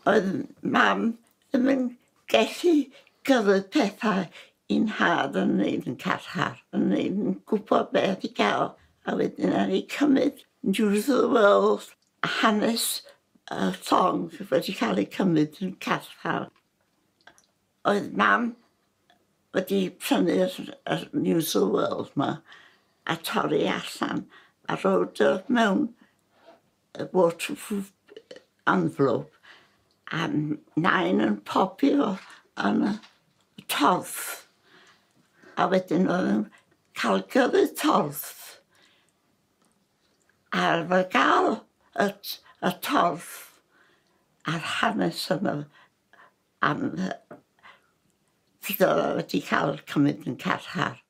Oedd Mam ddim yn gallu gyrru pethau i'n nhad yn neud yn carchar. Yn neud yn gwybod beth i gael. A wedyn ar ei cymryd News of the World, hanes y llong wedi cael ei cymryd yn carchar. Oedd Mam wedi prynu'r yr News of the World 'ma a torri allan a roid o mewn waterproof envelope a Nain yn pobi fo yn y torth, a wedyn oedd yn cael gyrru torth a fo gael y torth a'r hanes yna am sut oedd o wedi cael cymryd yn carchar.